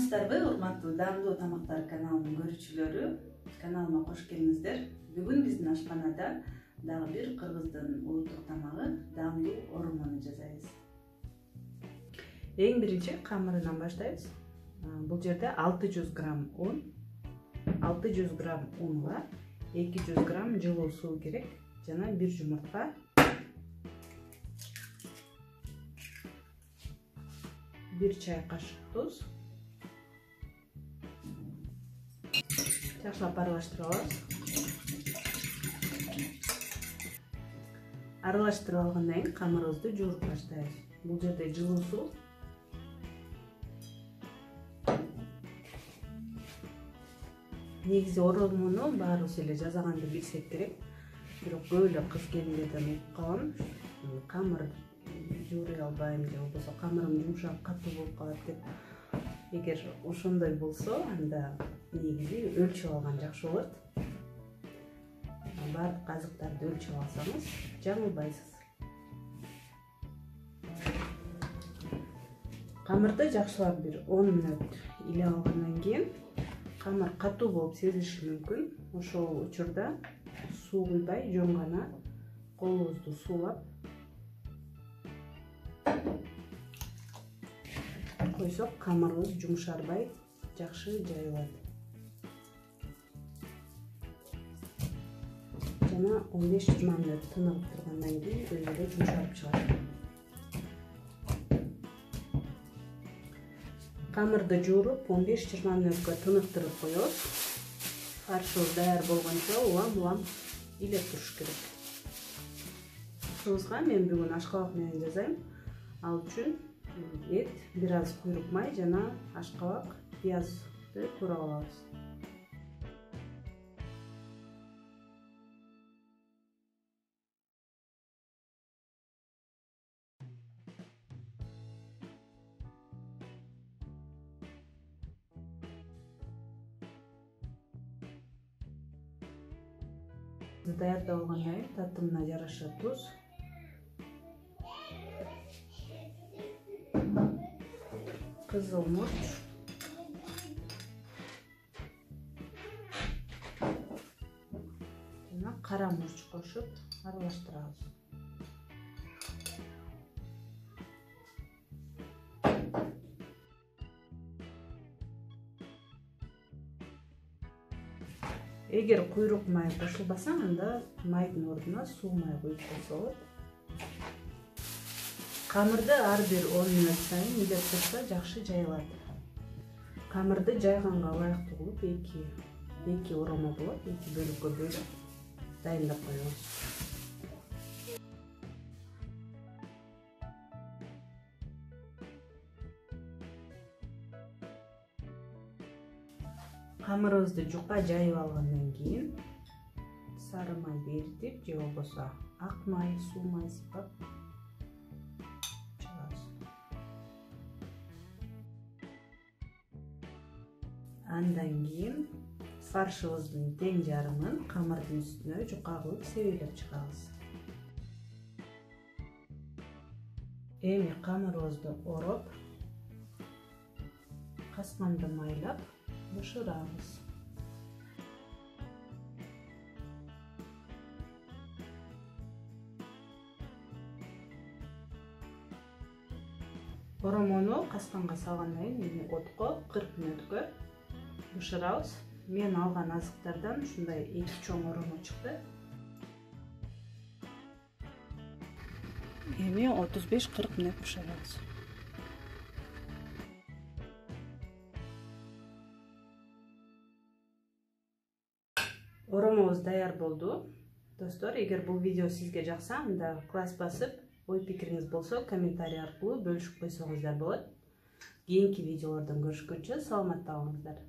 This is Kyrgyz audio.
Саламатсыздарбы, урматтуу даамдуу тамактар каналынын көрүүчүлөрү? Каналыма кош келиңиздер. Бүгүн биздин ашканада дагы бир кыргыздын улуттук тамагы даамдуу оромону жасайбыз. Эң биринчи камырынан баштайбыз. Бул жерде 600 грамм un, 600 грамм унга 200 грамм жылуу суу керек жана бир жумуртка. Bir çay kaşık tuz. Жакшылап аралаштырып алабыз. Аралаштырып алгандан кийин камырыбызды жууруп баштайбыз. Бул жерде жылуу суу. Негизи оромону баарыбыз эле жасаганды билсек керек. Бирок көп эле кыз келиндерден угуп калам. Камыр жууруй албайм же болбосо камырым жумшак катуу болуп калат деп. Эгер ошондой болсо, анда негизи өлчөп алган жакшы болот. Баардык азыктарды өлчөп алсаңыз, жаңылбайсыз. Камырды жакшылап бир 10 мүнөт иле алгандан кийин камыр катуу болуп сезилиши мүмкүн. Ошол учурда суу куйбай, жөн гана колубузду суулап койсок, камырыбыз жумшарбай, жакшы жайылат. Жана 15-20 мүнөт тыныгып тургандан кийин өзү эле жумшарып чыгат. Камырды жууруп 15-20 мүнөткө тыныктырып коебуз. Фаршыбыз даяр болгончо улам илеп туруш керек. Ушубузга мен бүгүн ашкабак менен жасайм. Ал үчүн эт, бир аз куйрук май жана ашкабак, пиязды турап алабыз. Даярдап алгандан кийин татымына жараша туз, кызыл мурч, жана кара мурч кошуп аралаштырабыз. Эгер куйрук май кошулбаса, анда майдын ордуна суу май куюп койсо болот. Камырды ар бир 10 мүнөт сайын илеп турса жакшы жайылат. Камырды жайганга ылайыктуу кылып эки оромо болот, эки бөлүккө бөлүп дайындап коебуз. Камырыбызды жука жайып алгандан кийин сары майды эритип же болбосо ак май, суу май сыпап чыгабыз. Андан кийин фаршыбыздын тең жарымын камырдын үстүнө жука кылып себелеп чыгабыз. Эми камырыбызды ороп, касканды майлап бышырабыз. Оромону касканга салгандан кийин отко 40 мүнөткө бышырабыз. Мен алган азыктардан ушундай 2 чоң оромо чыкты. Эми 35-40 мүнөт бышырабыз. Оромобуз даяр болду. Достор, эгер бул видео сизге жакса, анда класс басып, ой пикириңиз болсо комментарий аркылуу бөлүшүп койсоңуздар болот. Кийинки видеолордон көрүшкөнчө саламатта калыңыздар.